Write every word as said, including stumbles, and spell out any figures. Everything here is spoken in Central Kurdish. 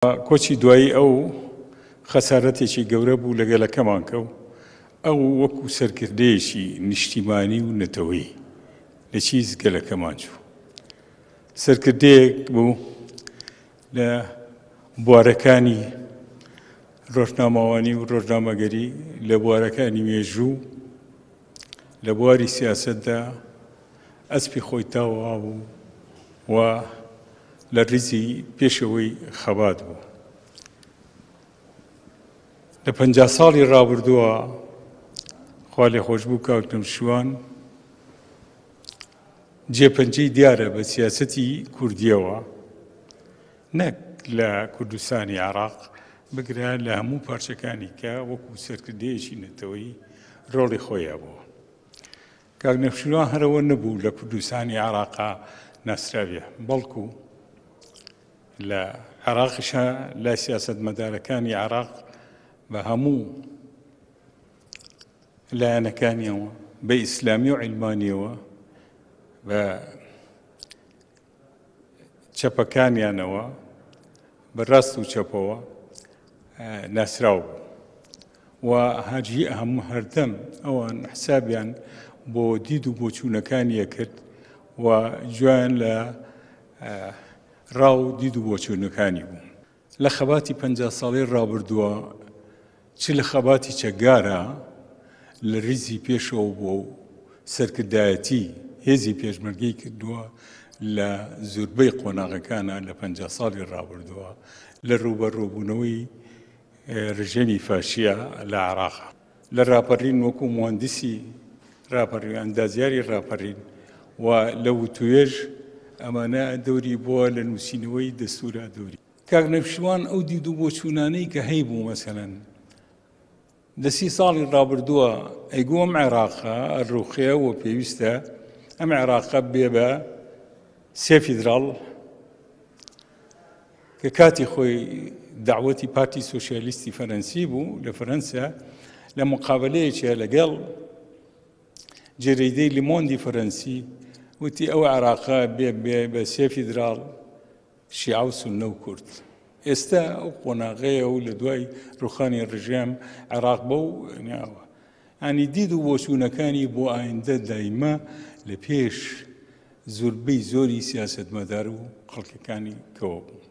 کۆچی دوایی ئەو خەسارەتێکی گەورە بوو لە گەلەکەمان کە و ئەو وەکو سەرکردەیەکی نیشتیمانی و نەتەوەیی لە چیز گەلەکەمان چوو. سەرکردەیەک بوو لە بوارەکانی ڕۆژنامەوانی و ڕۆژنامەگەری، لە بوارەکانی مێژوو، لە بواری سیاسەتدا ئەسپی خۆی تاوا بوو و لە ڕیزی پێشەوەی خەبات بوو. لە پەنجا ساڵی ڕابردووە خوا لێخۆشبوو کاک نەوشیروان جێپەنجەی دیارە بە سیاسەتی کوردیەوە، نەک لە کوردستانی عێراق، بگرە لە هەموو پارچەکانی کە وەکو سەرکردەیەکی نەتەوەیی ڕۆڵی خۆی هەبووە. کاک نەوشیروان هەرەوە نەبوو لە کوردستانی عێراقا ناسراویە، بەڵکو لە عێراقیشە لای سیاسەتمەدارەکانی عێراق بە هەموو لایەنەکانیەوە، بە ئیسلامی و عیلمانیەوە، بە چەپەکانیانەوە، بە ڕاست و چەپەوە ناسراو بوو. و هەرجی هەموو هەردەم ئەوان حسابیان بۆ دید و بۆچوونەکانیە کرد و گوێیان لە ڕاو دید و بۆچوونەکانی بوو. لە خەباتی پەنجا ساڵی ڕابردووە چ لە خەباتی چەکگارە لە ریزی پێشەوە بووە و سەرکردایەتی هێزی پێشمەرگەی کردووە لە زوربەی قۆناغەکانە لە پەنجا ساڵی ڕابردووە لە ڕووبەڕووبوونەوەی ڕژێمی فاشیە لە عێراق. لە ڕاپەڕین وەکو مهندسی ڕاپەڕین، ئەندازیاری ڕاپەڕین و لە وتوێژ ئەمانە دەوری بووە لە نووسینەوەی دەستورا دەوری. کاک نەوشیروان ئەو دید و بۆچوونانەی کە هەیبوو مەسەلەن لە سی ساڵی ڕابردووە ئەیگوو ئەم عێراقە ڕووخێ و پێویستە ئەم عێراقە بێ بە سێ فیدراڵ کە کاتی خۆی داوەتی پارتی سۆسیالیستی فەرەنسی بوو لە فەرەنسا لە مقابلەیەکیە لەگەڵ جەریدەی لیمۆندی فەرەنسی وتی ئەو عێراقە بێ بێ بە سێ فیدراڵ شیعە و سوننە و کورد. ئێستا ئەو قۆناغەیە و لە دوای ڕوخانی ڕژێم عێراق بەو ناوە. ینی دید و بۆچوونەکانی بۆ ئایندە دایمە لە پێش زۆربەی زۆری سیاسەتمەدار و خەڵکەکانی کەوە بوو.